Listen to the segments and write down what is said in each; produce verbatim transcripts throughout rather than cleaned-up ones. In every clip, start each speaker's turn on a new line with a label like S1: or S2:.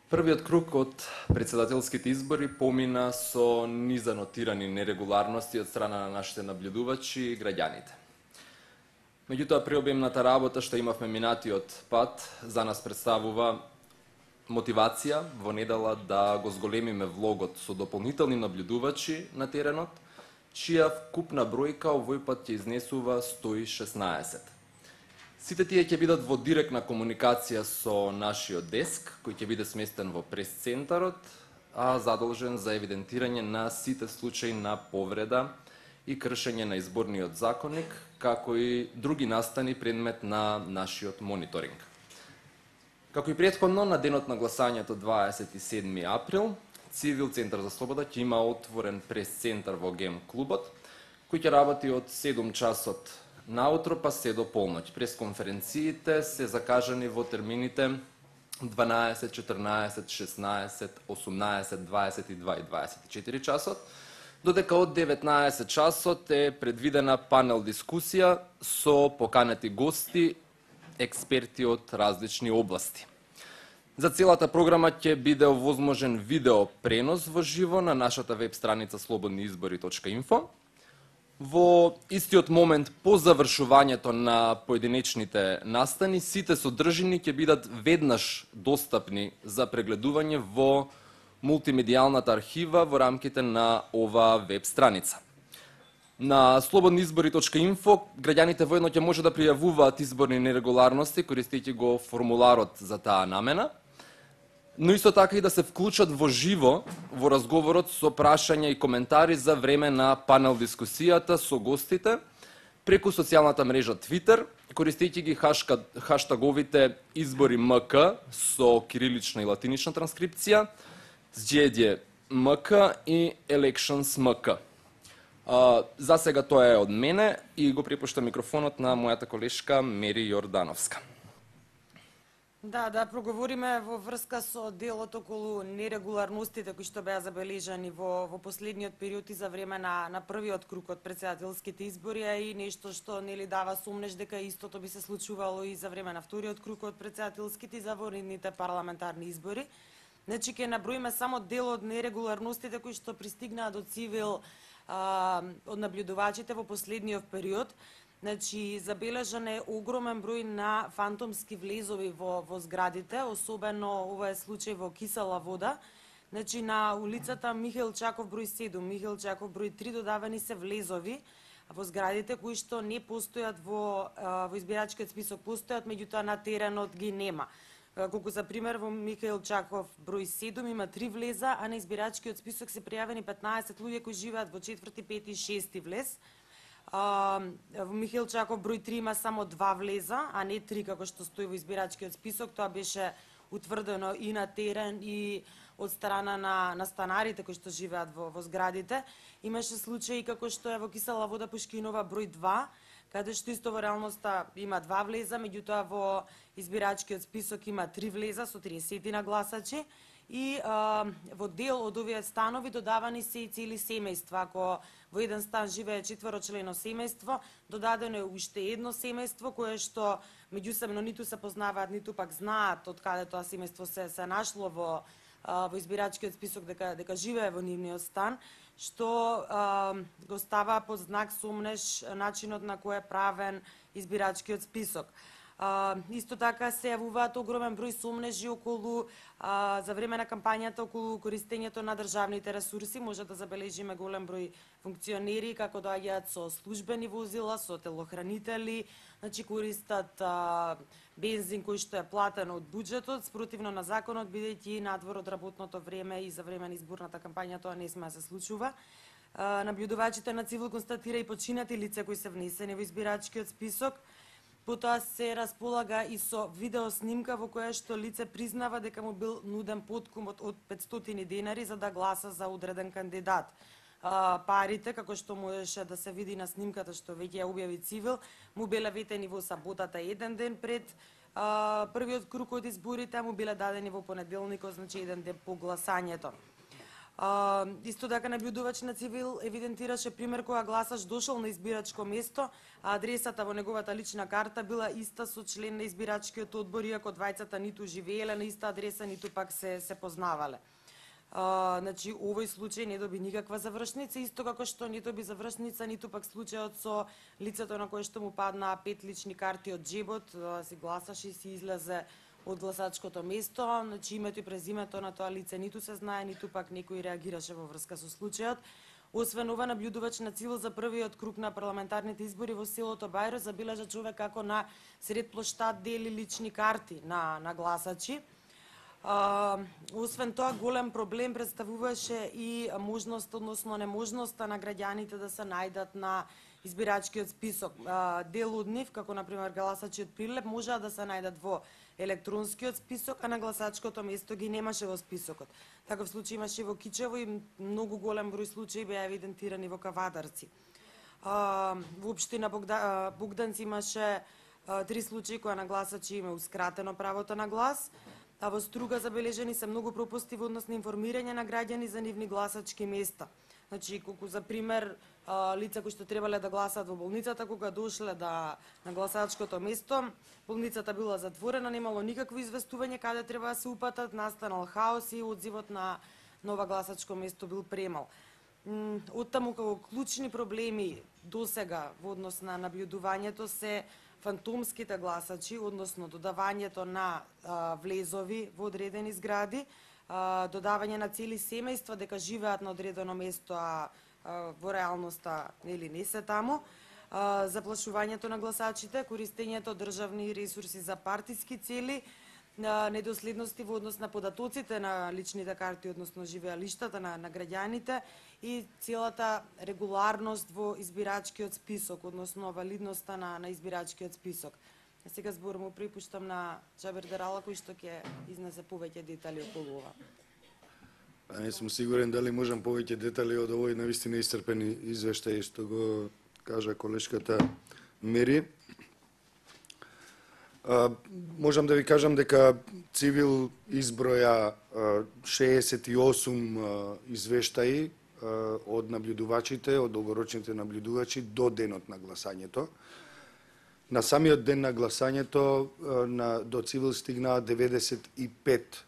S1: Првиот круг од председателските избори помина со низанотирани нерегуларности од страна на нашите наблюдувачи и граѓаните. Меѓутоа, преобемната работа што имавме минатиот пат за нас представува мотивација во недела да го зголемиме влогот со дополнителни наблюдувачи на теренот, чија вкупна бројка овој пат ќе изнесува сто и шеснаесет. Сите тие ќе бидат во директна комуникација со нашиот деск, кој ќе биде сместен во прес-центарот, а задолжен за евидентирање на сите случаи на повреда и кршење на изборниот законник, како и други настани предмет на нашиот мониторинг. Како и претходно, на денот на гласањето дваесет и седми април, Цивил Центар за слобода ќе има отворен прес-центар во Гем клубот, кој ќе работи од седум часот наутро па се до полноќ. Пресконференциите се закажани во термините дванаесет, четрнаесет, шеснаесет, осумнаесет, дваесет и два и дваесет и четири часот, додека од деветнаесет часот е предвидена панел дискусија со поканети гости, експерти од различни области. За целата програма ќе биде овозможен видео пренос во живо на нашата веб страница слободни избори точка инфо. Во истиот момент по завршувањето на поединечните настани, сите содржини ќе бидат веднаш достапни за прегледување во мултимедијалната архива во рамките на оваа веб страница. На слободни избори точка инфо граѓаните воедно ќе може да пријавуваат изборни нерегуларности користејќи го формуларот за таа намена, но исто така и да се вклучат во живо во разговорот со прашања и коментари за време на панел дискусијата со гостите преку социјалната мрежа Twitter, користејќи ги хаштаговите избори МК со кирилична и латинична транскрипција, сџеѓе МК и Elections МК. За сега тоа е од мене и го препуштам микрофонот на мојата колешка Мери Јордановска.
S2: Да, да проговориме во врска со делот околу нерегуларностите кои што беа забележани во, во последниот период и за време на, на првиот круг од председателските избори, а и нешто што нели дава сумнеж дека истото би се случувало и за време на вториот круг од председателските и за воредните парламентарни избори. Значи, ќе наброиме само дел од нерегуларностите кои што пристигнаа до Цивил а, од наблюдувачите во последниот период. Значи, забележан е огромен број на фантомски влезови во, во зградите, особено ова е случај во Кисела вода. Значи, на улицата Михаил Чаков број седум, Михаил Чаков број три додавани се влезови во зградите кои што не постојат во, во избирачкиот список, постојат, меѓутоа на теренот ги нема. Колку за пример во Михаил Чаков број седум има три влеза, а на избирачкиот список се пријавени петнаесет луѓе кои живеат во четврти, пети и шести влез. Uh, во Михаил Чаков број три има само два влеза, а не три како што стои во избирачкиот список. Тоа беше утврдено и на терен и од страна на, на станарите кои што живеат во, во зградите. Имаше случаи како што е во Кисела вода Пушкинова број два, каде што исто во реалноста има два влеза, меѓутоа во избирачкиот список има три влеза со триесет на гласачи. И а, во дел од овие станови додавани се и цели семејства. Ако во еден стан живее четворочлено семејство, додадено е уште едно семејство кое што меѓусебно ниту се познаваат, ниту пак знаат од каде тоа семејство се се нашло во а, во избирачкиот список дека дека живее во нивниот стан, што а, го става под знак сомнеж начинот на кој е правен избирачкиот список. Uh, исто така се јавуваат огромен број сомнежи околу uh, за време на кампањата околу користењето на државните ресурси. Може да забележиме голем број функционери како доаѓаат со службени возила, со телохранители, значи користат uh, бензин кој што е платен од буџетот, спротивно на законот, бидејќи надвор од работното време и за време на изборната кампања тоа не сме да се случува. Uh, наблюдувачите на Цивил констатира и починати лица кои се внесени во избирачкиот список. Потоа се располага и со видеоснимка во која што лице признава дека му бил нуден подкуп од петстотини денари за да гласа за одреден кандидат. А, парите, како што можеше да се види на снимката што веќе ја објави Цивил, му биле ветени во саботата еден ден пред а, првиот круг од изборите, а му биле дадени во понеделникот, значи еден ден по гласањето. А, исто така наблюдувач на Цивил евидентираше пример кога гласач дошол на избирачко место, а адресата во неговата лична карта била иста со член на избирачкиот одбор, иако двајцата ниту живееле на иста адреса, ниту пак се се познавале. А, значи, овој случај не доби никаква завршница, исто како што не доби завршница ниту пак случајот со лицето на кое што му паднаа пет лични карти од джебот, си гласаше и си излезе од гласачкото место, значи името и презимето на тоа лице ниту се знае, ниту пак некој реагираше во врска со случајот. Освен ова, наблюдувач на Цивил за првиот круг на парламентарните избори во селото Бајро забележа човек како на сред плоштад дели лични карти на, на гласачи. А, освен тоа, голем проблем представуваше и можност, односно неможноста на граѓаните да се најдат на избирачкиот список. А, дел од нив, како например гласачи од Прилеп, можеа да се најдат во електронскиот список, а на гласачкото место ги немаше во списокот. Таков случај имаше во Кичево и многу голем број случаи беа евидентирани во Кавадарци. А, во општина Богда, Богданци имаше а, три случаи кои на гласачи има ускратено правото на глас, а во Струга забележени се многу пропусти во однос на информирање на граѓани за нивни гласачки места. Значи, колку за пример, лица кои што требале да гласаат во болницата, кога дошле да на гласачкото место, болницата била затворена, немало никакво известување каде треба да се упатат, настанал хаос и одзивот на нова гласачко место бил премал. Оттаму како клучни проблеми досега во однос на наблюдувањето се фантомските гласачи, односно додавањето на а, влезови во одредени згради, а, додавање на цели семејства дека живеат на одредено место, а, а во реалноста нели не се таму, а, заплашувањето на гласачите, користењето од државни ресурси за партиски цели, на недоследности во однос на податоците на личните карти, односно живеалиштата на, на граѓаните и целата регуларност во избирачкиот список, односно валидноста на, на избирачкиот список. А сега збор му припуштам на Джабер Дерала, кој што ќе изнесе повеќе детали околу ова.
S3: А не сум сигурен дали можам повеќе детали од овој навистина исцрпен извештај што го кажа колешката Мери. Uh, можам да ви кажам дека Цивил изброја uh, шеесет и осум uh, извештаи uh, од наблюдувачите, од долгорочните наблюдувачи до денот на гласањето. На самиот ден на гласањето uh, на, до Цивил стигнаа деветдесет и пет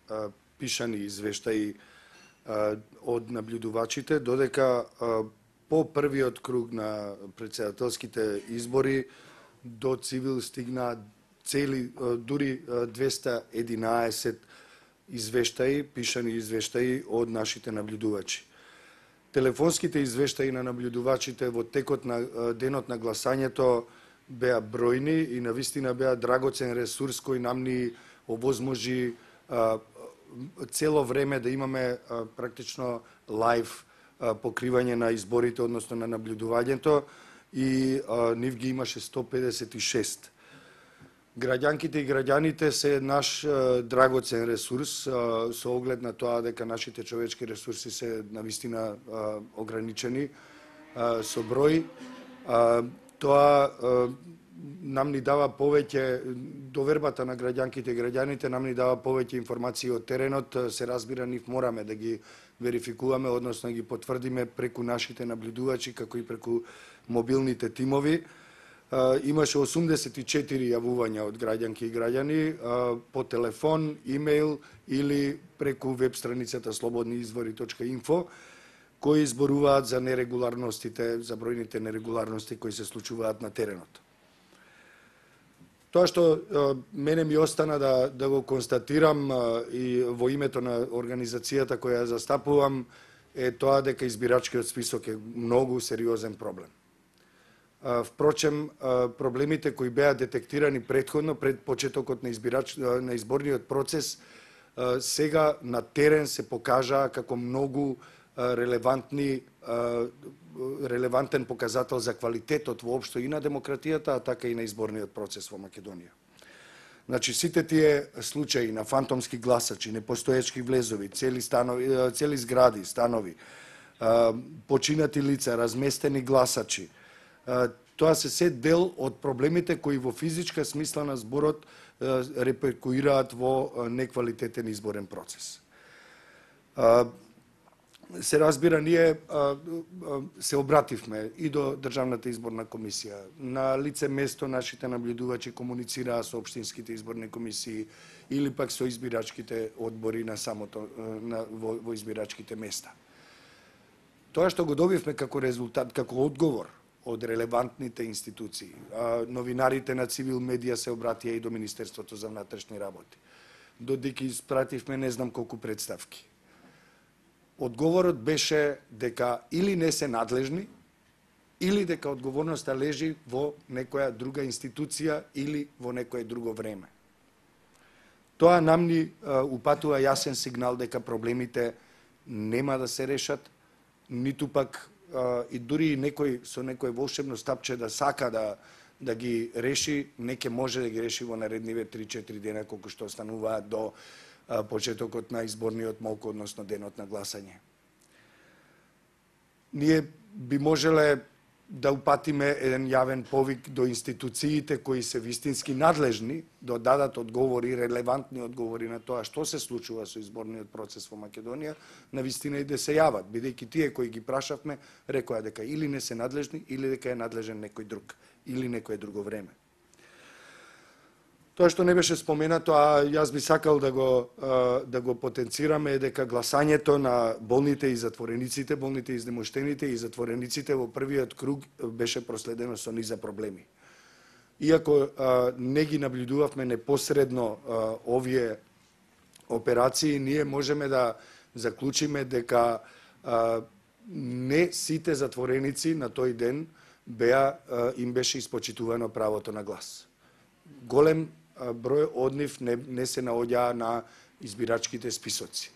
S3: uh, пишани извештаи uh, од наблюдувачите, додека uh, по првиот круг на претседателските избори до Цивил стигнаа цели дури двеста и единаесет извештаи, пишани извештаи од нашите наблюдувачи. Телефонските извештаи на наблюдувачите во текот на денот на гласањето беа бројни и навистина беа драгоцен ресурс кој нам ни овозможи цело време да имаме практично лайв покривање на изборите, односно на наблюдувањето, и нив ги имаше сто педесет и шест. Граѓанките и граѓаните се наш е, драгоцен ресурс, е, со оглед на тоа дека нашите човечки ресурси се навистина е, ограничени е, со број. Е, тоа е, нам ни дава повеќе, довербата на граѓанките и граѓаните нам ни дава повеќе информации од теренот, се разбира, нив мораме да ги верификуваме, односно да ги потврдиме преку нашите наблюдувачи, како и преку мобилните тимови. Uh, имаше осумдесет и четири јавувања од граѓанки и граѓани uh, по телефон, имејл или преку веб страницата слободни извори точка инфо, кои изборуваат за нерегуларностите, за бројните нерегуларности кои се случуваат на теренот. Тоа што uh, мене ми остана да, да го констатирам uh, и во името на организацијата која ја застапувам е тоа дека избирачкиот список е многу сериозен проблем. Впрочем, проблемите кои беа детектирани претходно, пред почетокот на, избирач, на изборниот процес, сега на терен се покажаа како многу релевантни, релевантен показател за квалитетот воопшто и на демократијата, а така и на изборниот процес во Македонија. Значи, сите тие случаи на фантомски гласачи, непостоечки влезови, цели, станови, цели згради, станови, починати лица, разместени гласачи, тоа се се дел од проблемите кои во физичка смисла на зборот реперкуираат во неквалитетен изборен процес. се разбира, ние а, а, се обративме и до Државната изборна комисија. На лице место нашите наблюдувачи комуницираа со општинските изборни комисии или пак со избирачките одбори на самото на, во, во избирачките места. Тоа што го добивме како резултат, како одговор од релевантните институции, а, новинарите на Цивил Медија се обратија и до Министерството за внатрешни работи. Додека испративме не знам колку представки. Одговорот беше дека или не се надлежни, или дека одговорноста лежи во некоја друга институција или во некое друго време. Тоа нам ни а, упатува јасен сигнал дека проблемите нема да се решат, ниту пак а, и дури некој со некој волшебно стапче да сака да да ги реши, не ќе може да ги реши во наредниве три-четири дена колку што остануваат до а, почетокот на изборниот молк, односно денот на гласање. Ние би можеле да упатиме еден јавен повик до институциите кои се вистински надлежни да дадат одговори, релевантни одговори на тоа што се случува со изборниот процес во Македонија, на вистина и да се јават, бидејќи тие кои ги прашавме рекоа дека или не се надлежни, или дека е надлежен некој друг, или некое друго време. Тоа што не беше споменато, а јас би сакал да го да го потенцираме, е дека гласањето на болните и затворениците, болните и изнемоштените и затворениците во првиот круг беше проследено со низа проблеми. Иако а, не ги наблюдувавме непосредно а, овие операции, ние можеме да заклучиме дека а, не сите затвореници на тој ден беа а, им беше испочитувано правото на глас. Голем број од нив не, не се наоѓаа на избирачките списоци.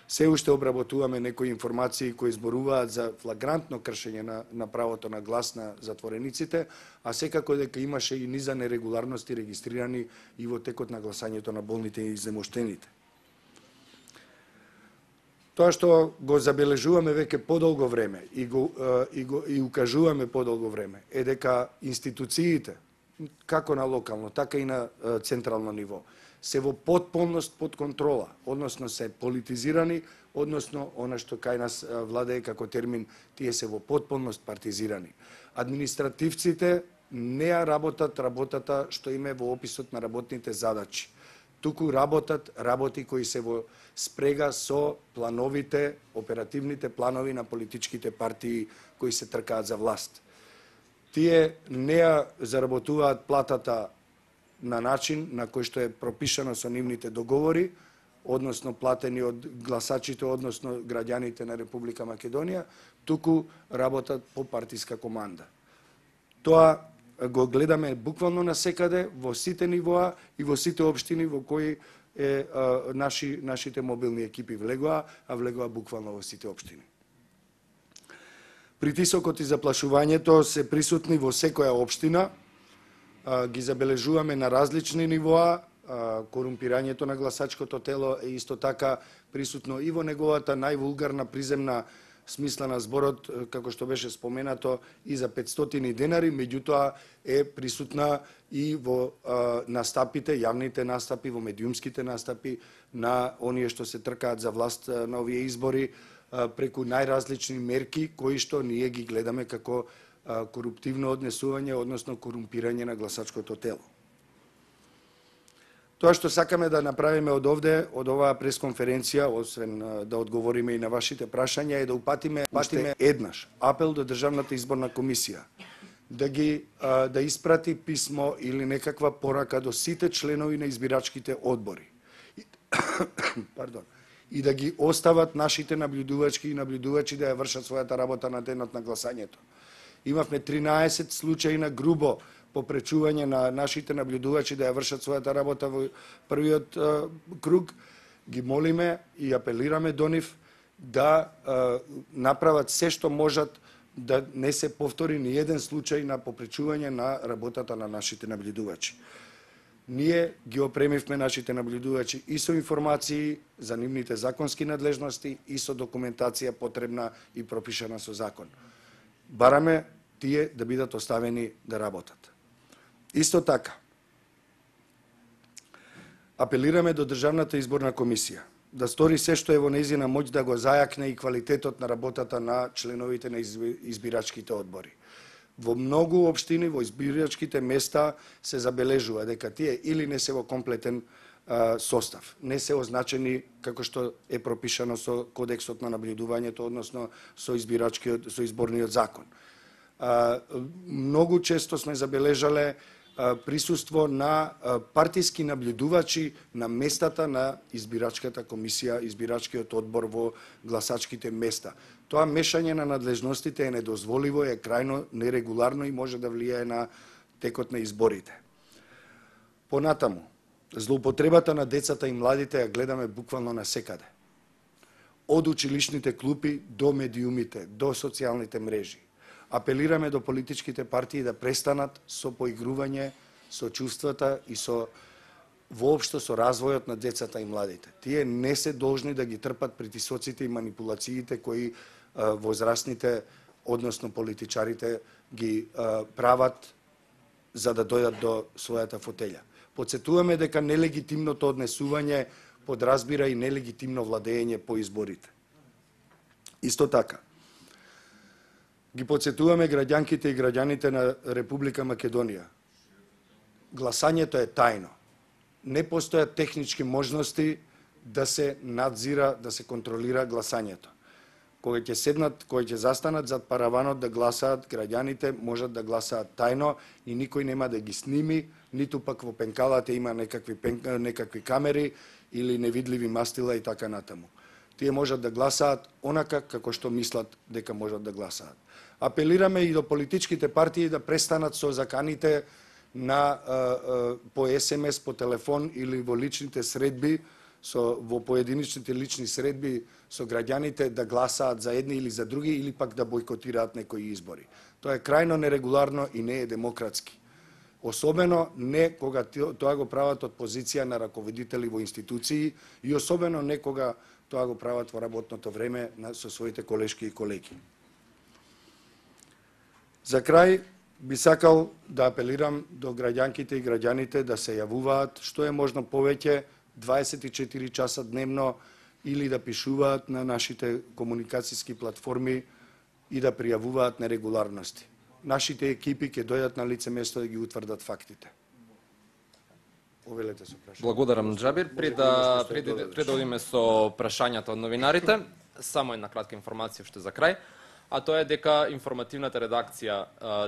S3: Се уште обработуваме некои информации кои зборуваат за флагрантно кршење на, на правото на глас на затворениците, а секако дека имаше и низа нерегуларности регистрирани и во текот на гласањето на болните и изнемоштените. Тоа што го забележуваме веќе подолго време и го, и го и укажуваме подолго време е дека институциите како на локално, така и на централно ниво, се во потполност под контрола, односно се политизирани, односно она што кај нас владее како термин, тие се во потполност партизирани. Административците не ја работат работата што им е во описот на работните задачи. Туку работат работи кои се во спрега со плановите, оперативните планови на политичките партии кои се тркаат за власт. Тие не ја заработуваат платата на начин на кој што е пропишано со нивните договори, односно платени од гласачите, односно граѓаните на Република Македонија, туку работат по партиска команда. Тоа го гледаме буквално насекаде, во сите нивоа и во сите општини во кои е, а, наши, нашите мобилни екипи влегоа, а влегоа буквално во сите општини. Притисокот и заплашувањето се присутни во секоја општина, ги забележуваме на различни нивоа, корумпирањето на гласачкото тело е исто така присутно и во неговата највулгарна приземна смисла на зборот, како што беше споменато, и за петстотини денари, меѓутоа е присутна и во настапите, јавните настапи, во медиумските настапи на оние што се тркаат за власт на овие избори, преку најразлични мерки кои што ние ги гледаме како коруптивно однесување, односно корумпирање на гласачкото тело. Тоа што сакаме да направиме од овде, од оваа пресконференција, освен да одговориме и на вашите прашања, е да упатиме, упатиме еднаш апел до Државната изборна комисија да ги да испрати писмо или некаква порака до сите членови на избирачките одбори. Пардон. И да ги остават нашите наблюдувачки и наблюдувачи да ја вршат својата работа на денот на гласањето. Имавме тринаесет случаи на грубо попречување на нашите наблюдувачи да ја вршат својата работа во првиот е, круг. Ги молиме и апелираме до нив да е, направат се што можат да не се повтори ни еден случај на попречување на работата на нашите наблюдувачи. Ние ги опремивме нашите наблюдувачи и со информации за нивните законски надлежности и со документација потребна и пропишана со закон. Бараме тие да бидат оставени да работат. Исто така, апелираме до Државната изборна комисија да стори се што е во нејзина моќ да го зајакне и квалитетот на работата на членовите на избирачките одбори. Во многу општини, во избирачките места се забележува дека тие или не се во комплетен а, состав, не се означени како што е пропишано со Кодексот на набљудувањето, односно со избирачкиот, со изборниот закон. А, многу често сме забележале а, присуство на а, партиски набљудувачи на местата на избирачката комисија, избирачкиот одбор во гласачките места. Тоа мешање на надлежностите е недозволиво, е крајно нерегуларно и може да влијае на текот на изборите. Понатаму, злоупотребата на децата и младите ја гледаме буквално насекаде. Од училишните клупи до медиумите, до социјалните мрежи. Апелираме до политичките партии да престанат со поигрување со чувствата и со воопшто со развојот на децата и младите. Тие не се должни да ги трпат притисоците и манипулациите кои а, возрастните, односно политичарите, ги а, прават за да дојдат до својата фотелја. Подсетуваме дека нелегитимното однесување подразбира и нелегитимно владење по изборите. Исто така, ги подсетуваме граѓанките и граѓаните на Република Македонија. Гласањето е тајно. Не постојат технички можности да се надзира, да се контролира гласањето. Кога ќе седнат, кога ќе застанат зад параванот да гласаат, граѓаните можат да гласаат тајно и никој нема да ги сними, ниту пак во пенкалата има некакви, пен, некакви камери или невидливи мастила и така натаму. Тие можат да гласаат онака како што мислат дека можат да гласаат. Апелираме и до политичките партии да престанат со заканите на а, а, по ес ем ес, по телефон или во личните средби, со во поединичните лични средби со граѓаните да гласаат за едни или за други или пак да бойкотираат некои избори. Тоа е крајно нерегуларно и не е демократски. Особено не кога тоа го прават од позиција на раководители во институции и особено не кога тоа го прават во работното време со своите колешки и колеги. За крај би сакал да апелирам до граѓанките и граѓаните да се јавуваат што е можно повеќе дваесет и четири часа дневно или да пишуваат на нашите комуникацијски платформи и да пријавуваат нерегуларности. Нашите екипи ќе дојдат на лице место да ги утврдат фактите. Овелете со прашање.
S1: Благодарам, Џабир. Пред да пред да одиме со прашањата од новинарите, само една кратка информација уште за крај, а тоа е дека информативната редакција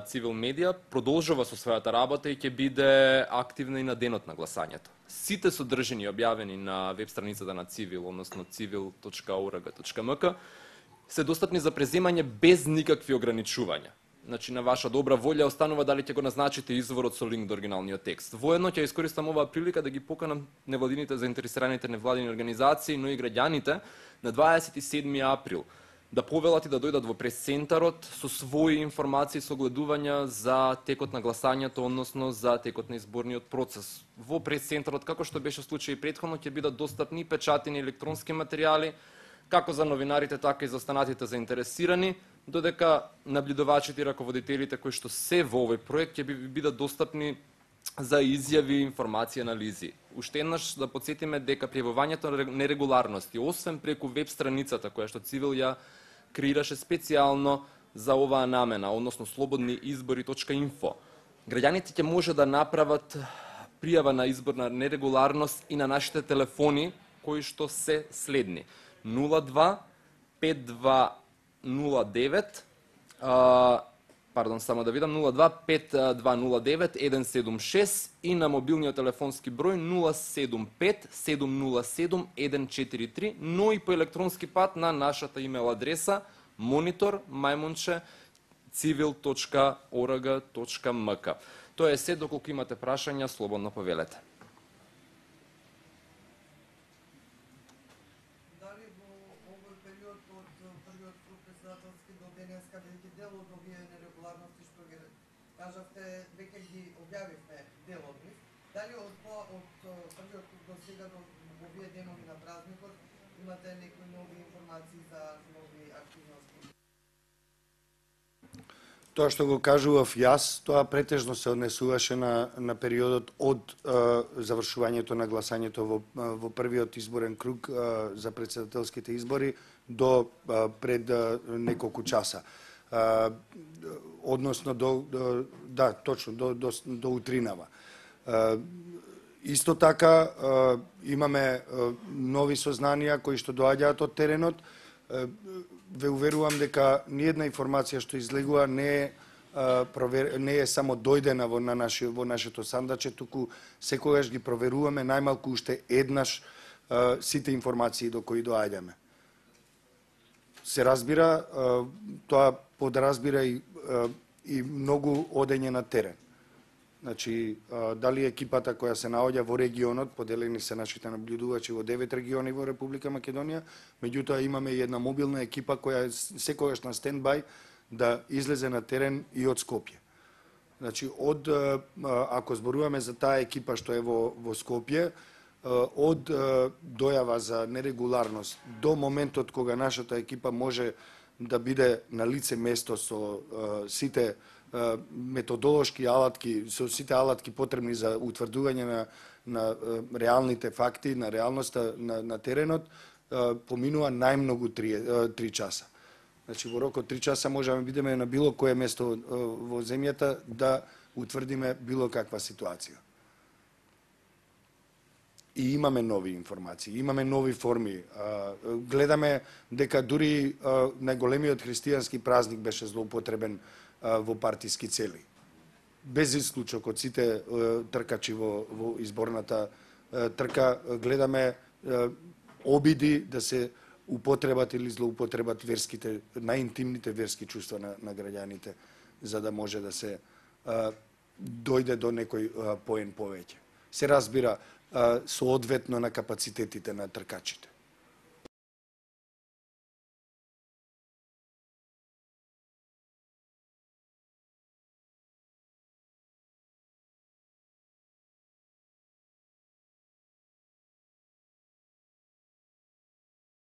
S1: Цивил Медија продолжува со својата работа и ќе биде активна и на денот на гласањето. Сите содржини објавени на веб страницата на Цивил, односно цивил точка орг точка ем ка, се достапни за преземање без никакви ограничувања. Значи, на ваша добра волја останува дали ќе го назначите изворот со линк до оригиналниот текст. Воедно ќе искористам оваа прилика да ги поканам невладините заинтересираните невладини организации, но и граѓаните на дваесет и седми април да повелат и да дојдат во прес-центарот со своји информации, согледувања за текот на гласањето, односно за текот на изборниот процес. Во прес-центарот, како што беше случај претходно, ќе бидат достапни печатени електронски материјали, како за новинарите, така и за останатите заинтересирани, додека набљудувачите и раководителите кои што се во овој проект ќе бидат достапни за изјави, информации, анализи. Уште еднаш да потсетиме дека пријавувањето на нерегуларности, освен преку веб страницата која што Цивил ја креираше специјално за оваа намена, односно слободни избори точка инфо, граѓаните ќе може да направат пријава на изборна нерегуларност и на нашите телефони кои што се следни: нула два пет два нула девет, а, пардон, само да видам, нула два пет два нула девет еден седум шест и на мобилниот телефонски број нула седум пет седум нула седум еден четири три, но и по електронски пат на нашата имейл адреса монитор мајмунче цивил точка орг точка ем ка. Тоа е се, доколку имате прашања, слободно повелете.
S4: Кажавте, веќе ги објавивме дел од нив. Дали од од првиот до сега до овие денови на празникот имате некои нови информации за нови активности?
S3: Тоа што го кажував јас, тоа претежно се однесуваше на, на периодот од е, завршувањето на гласањето во, во првиот изборен круг е, за председателските избори до е, пред е, неколку часа. Е, односно до, до да, точно до до, до утринава. Е, исто така е, имаме е, нови сознанија кои што доаѓаат од теренот. Е, ве уверувам дека ниедна информација што излегува не е провер... не е само дојдена во на наше во нашето сандаче, туку секогаш ги проверуваме најмалку уште еднаш сите информации до кои доаѓаме. Се разбира, тоа подразбира и и многу одење на терен. Значи, дали екипата која се наоѓа во регионот, поделени се нашите наблюдувачи во девет региони во Република Македонија, меѓутоа имаме и една мобилна екипа која е секогаш на стендбај да излезе на терен и од Скопје. Значи, од, ако зборуваме за таа екипа што е во, во Скопје, од дојава за нерегуларност до моментот кога нашата екипа може да биде на лице место со сите методолошки алатки, со сите алатки потребни за утврдување на, на реалните факти, на реалноста на, на теренот, поминува најмногу три, три часа. Значи, во рок од три часа можеме да бидеме на било кое место во земјата да утврдиме било каква ситуација. И имаме нови информации, имаме нови форми. Гледаме дека дури најголемиот христијански празник беше злоупотребен во партиски цели. Без исклучок од сите тркачи во, во изборната трка, гледаме обиди да се употребат или злоупотребат верските, најинтимните верски чувства на, на граѓаните, за да може да се а, дојде до некој а, поен повеќе. Се разбира а, соодветно на капацитетите на тркачите.